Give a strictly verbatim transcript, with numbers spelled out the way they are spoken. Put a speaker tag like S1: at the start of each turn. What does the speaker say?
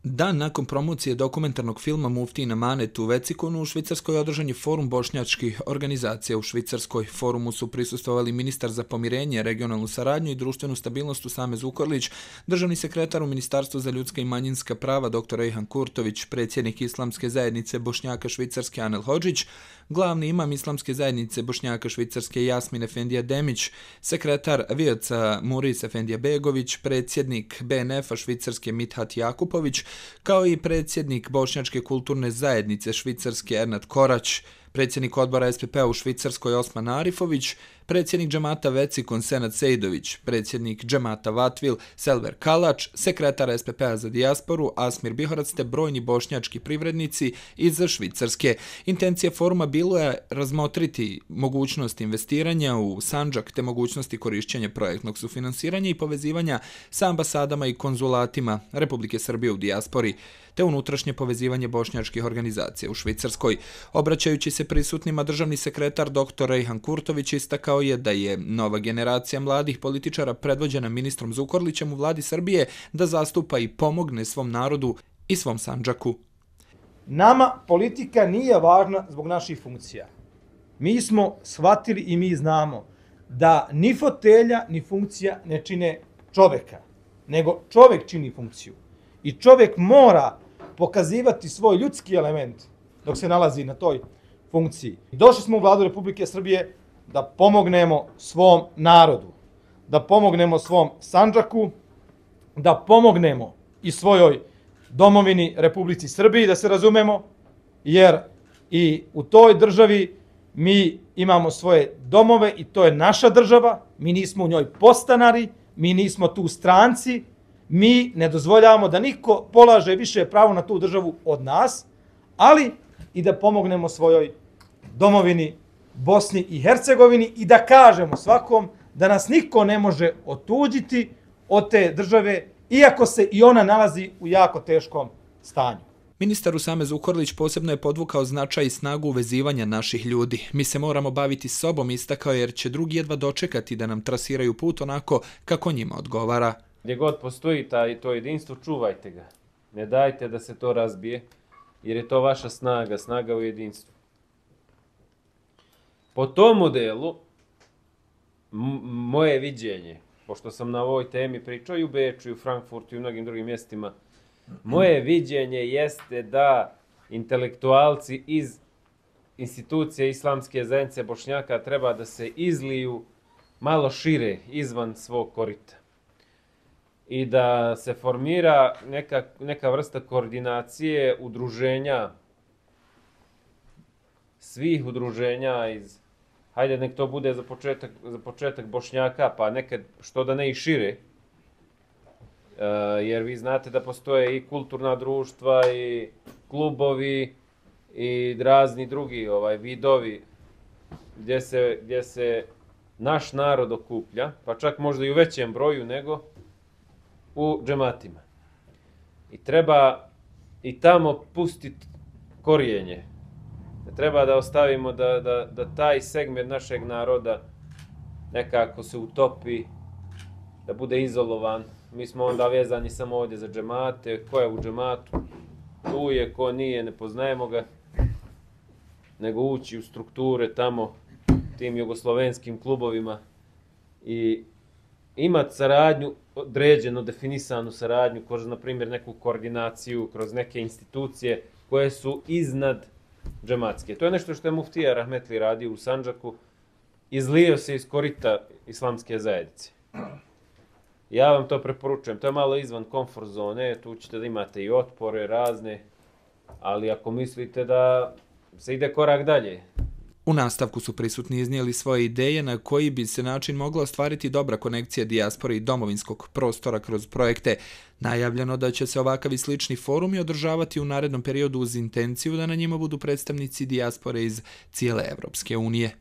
S1: Dan nakon promocije dokumentarnog filma Muftijin Amanet u Vecikonu u Švicarskoj održan je forum bošnjačkih organizacija u Švicarskoj. Forumu su prisustvovali ministar za pomirenje, regionalnu saradnju i društvenu stabilnost Usame Zukorlić, državni sekretar u Ministarstvu za ljudska i manjinska prava dr Ejhan Kurtović, predsjednik Islamske zajednice Bošnjaka Švicarske Anel Hodžić, glavni imam Islamske zajednice Bošnjaka Švicarske Jasmin Efendija Demić, sekretar V I C-a Muris Efendija Begović, predsjednik B N F-a Švicarske Mithat Jakupović, kao i predsjednik Bošnjačke kulturne zajednice Švicarske Ernad Korać, predsjednik odbora S P P-a u Švicarskoj Osman Arifović, predsjednik džemata Vecikon Senad Sejdović, predsjednik džemata Vatvil Selver Kalač, sekretar S P P-a za dijasporu Asmir Bihorac te brojni bošnjački privrednici iz Švicarske. Intencija foruma bilo je razmotriti mogućnost investiranja u Sandžak te mogućnosti korišćenja projektnog sufinansiranja i povezivanja sa ambasadama i konzulatima Republike Srbije u dijaspori, te unutrašnje povezivanje bošnjačkih organizacija u Švicarskoj. Obraćajući se prisutnima, državni sekretar dr Ejhan Kurtović istakao je da je nova generacija mladih političara predvođena ministrom Zukorlićem u vladi Srbije da zastupa i pomogne svom narodu i svom Sandžaku.
S2: Nama politika nije važna zbog naših funkcija. Mi smo shvatili i mi znamo da ni fotelja ni funkcija ne čine čoveka, nego čovek čini funkciju. I čovjek mora pokazivati svoj ljudski element dok se nalazi na toj funkciji. Došli smo u vladu Republike Srbije da pomognemo svom narodu, da pomognemo svom Sandžaku, da pomognemo i svojoj domovini Republici Srbiji, da se razumemo, jer i u toj državi mi imamo svoje domove i to je naša država, mi nismo u njoj podstanari, mi nismo tu stranci, mi ne dozvoljavamo da niko polaže više pravo na tu državu od nas, ali i da pomognemo svojoj domovini Bosni i Hercegovini i da kažemo svakom da nas niko ne može otuđiti od te države, iako se i ona nalazi u jako teškom stanju.
S1: Ministar Usame Zukorlić posebno je podvukao značaj i snagu uvezivanja naših ljudi. Mi se moramo baviti sobom, istakao, jer će drugi jedva dočekati da nam trasiraju put onako kako njima odgovara.
S3: Gdje god postoji taj, to jedinstvo, čuvajte ga. Ne dajte da se to razbije, jer je to vaša snaga, snaga u jedinstvu. Po tom modelu, moje viđenje, pošto sam na ovoj temi pričao i u Beču, i u Frankfurtu i u mnogim drugim mjestima, moje viđenje jeste da intelektualci iz institucije Islamske zajednice Bošnjaka treba da se izliju malo šire izvan svog korita i da se formira neka, neka vrsta koordinacije udruženja, svih udruženja iz, hajde nek to bude za početak, za početak Bošnjaka, pa nekad što da ne i šire, Uh, jer vi znate da postoje i kulturna društva i klubovi i razni drugi ovaj vidovi gdje se, gdje se naš narod okuplja, pa čak možda i u većem broju nego u džematima. I treba i tamo pustiti korijenje. Treba da ostavimo da, da, da taj segment našeg naroda nekako se utopi, da bude izolovan. Mi smo onda vezani samo ovdje za džemate, ko je u džematu, tu je, ko nije, ne poznajemo ga, nego ući u strukture tamo, tim jugoslovenskim klubovima i imati saradnju, određeno, definisanu saradnju, kroz, na primjer, neku koordinaciju, kroz neke institucije koje su iznad džematske. To je nešto što je muftija Rahmetli radio u Sandžaku, izlio se iz korita Islamske zajednice. Ja vam to preporučujem, to je malo izvan komfort zone, tu ćete da imate i otpore razne, ali ako mislite da se ide korak dalje.
S1: U nastavku su prisutni iznijeli svoje ideje na koji bi se način mogla ostvariti dobra konekcija dijaspore i domovinskog prostora kroz projekte. Najavljeno da će se ovakav i slični forumi održavati u narednom periodu uz intenciju da na njima budu predstavnici dijaspore iz cijele Evropske unije.